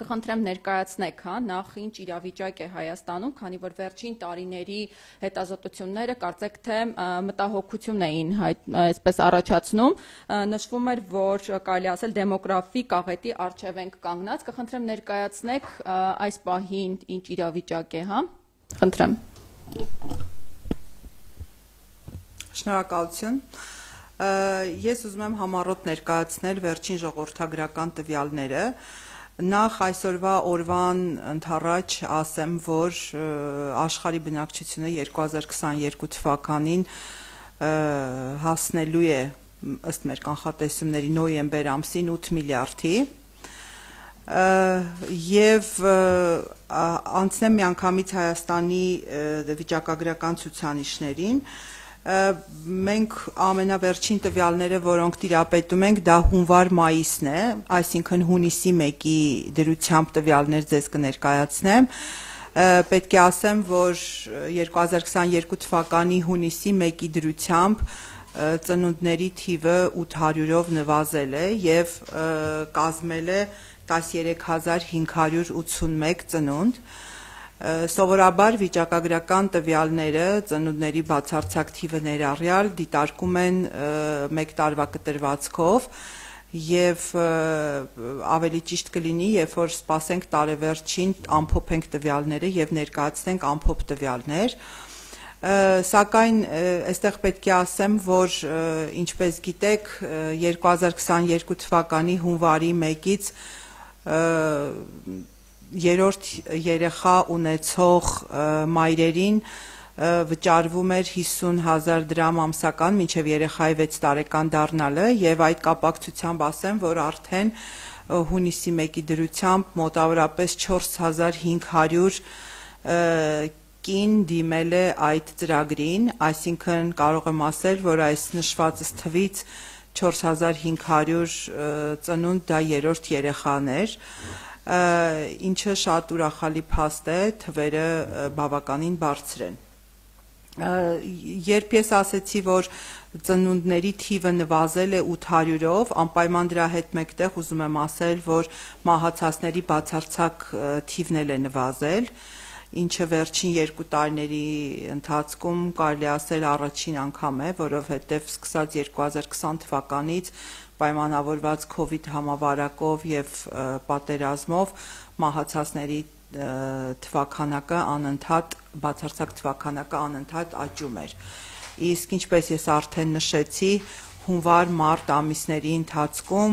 կխնդրեմ ներկայացնեք, նախ ինչ իրավիճակ է Հայաստանում, քանի որ վերջին տարիների հետազոտությունները կարծեք թե մտահոգություն էին այսպես առաջացնում, նշվում էր, որ կարելի ասել դեմոգրաֆիկ աղետի առջև ենք կանգնած, կխնդրեմ ներկայացնեք այս պահին ինչ իրավիճակ է, խնդրեմ։ Շնորհակալություն։ Ես ուզում եմ համառոտ ներկայացնել վերջին ժողովրդագրական տվյալները։ Նախ այսօրվա օրվան ընդառաջ ասեմ, որ աշխարհի բնակչությունը 2022 թվականին հասնելու է ըստ մեր կանխատեսումների նոյեմբեր ամսին 8 միլիարդի եւ անցնեմ միանգամից Հայաստանի վիճակագրական ցուցանիշներին։ Մենք ամենավերջին տվյալները, որոնք տիրապետում ենք, դա հունվար-մայիսն է, այսինքն հունիսի 1-ի դրությամբ տվյալներ ձեզ կներկայացնեմ։ Պետք է ասեմ, որ 2022 թվականի հունիսի 1-ի դրությամբ ծնունդների թիվը 800-ով նվազել է եւ կազմել է 13581 ծնունդ։ Սովորաբար վիճակագրական տվյալները ծնունդների բացարձակ թիվը ներառյալ դիտարկում են մեկ տարվա կտրվածքով եւ ավելի ճիշտ կլինի, երբ որ սպասենք տարեվերջին ամփոփենք տվյալները եւ ներկայացնենք ամփոփ տվյալներ, սակայն այստեղ պետք է ասեմ, որ ինչպես գիտեք 2022 թվականի հունվարի 1-ից երրորդ երեխա ունեցող մայրերին վճարվում էր 50,000 դրամ ամսական մինչև երեխայի 6 տարեկան դառնալը եւ այդ կապակցությամբ ասեմ, որ արդեն հունիսի 1-ի դրությամբ մոտավորապես 4500 կին դիմել է այդ ծրագրին, այսինքն կարող եմ ասել, որ այս նշվածս թվից 4500 ծնունդ դա երրորդ երեխան էր, ինչը շատ ուրախալի փաստ է, թվերը բավականին բարձր են։ Երբ ես ասեցի, որ ծնունդների թիվը նվազել է 800-ով, անպայման դրա հետ մեկտեղ ուզում եմ ասել, որ մահացածների բացարձակ թիվն էլ է նվազել, ինչը վերջին 2 տարիների ընթացքում կարելի ասել առաջին անգամ է, որովհետև սկսած 2020 թվականից պայմանավորված COVID համավարակով եւ պատերազմով մահացածների թվականակը անընդհատ բացարձակ թվականակը անընդհատ աճում էր։ Իսկ ինչպես ես արդեն նշեցի, հունվար-մարտ ամիսների ընթացքում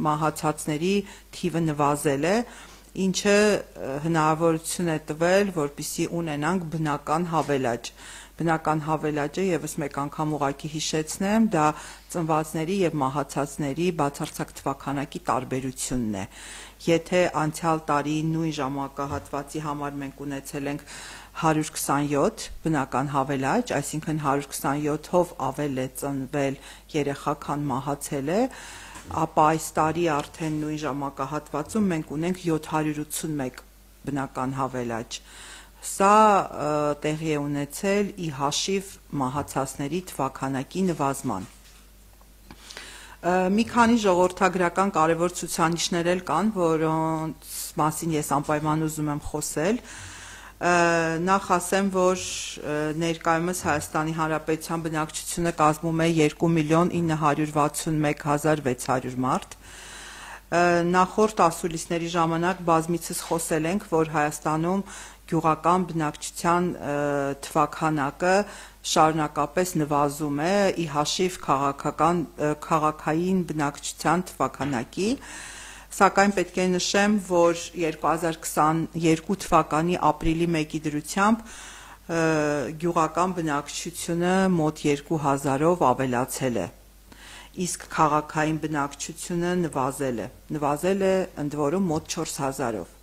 մահացածների թիվը նվազել է, ինչը հնարավորություն է տվել, որպեսզի ունենանք բնական հավելաճ։ Բնական հավելաճը եւս մեկ անգամ ուղղակի հիշեցնեմ, դա ծնվածների եւ մահացածների բացարձակ թվականակի տարբերությունն է։ Եթե անցյալ տարի նույն ժամանակահատվածի համար մենք ունեցել ենք 127 բնական հավելաճ, այսինքն 127-ով ավել է ծնվել երեխա, քան մահացել է, ապա այս տարի արդեն նույն ժամանակահատվածում մենք ունենք 781 բնական հավելաճ։ Սա տեղի է ունեցել ի հաշիվ մահացածների թվականակի նվազման։ Մի քանի ժողովրդագրական կարևոր ցուցանիշներ էլ կան, որոնց մասին ես անպայման ուզում եմ խոսել։ Նախ ասեմ, որ ներկայումս Հայաստանի Հանրապետության բնակչությունը կազմում է 2,961,600 մարդ։ Նախորդ ասուլիսների ժամանակ բազմիցս խոսել ենք, որ Հայաստանում գյուղական բնակչության թվականակը շարունակապես նվազում է ի հաշիվ քաղաքային բնակչության թվականակի, սակայն պետք է նշեմ, որ 2022 թվականի ապրիլի 1-ի դրությամբ գյուղական բնակչությունը մոտ 2000-ով ավելացել է, իսկ քաղաքային բնակչությունը նվազել է ընդ որում մոտ 4000-ով։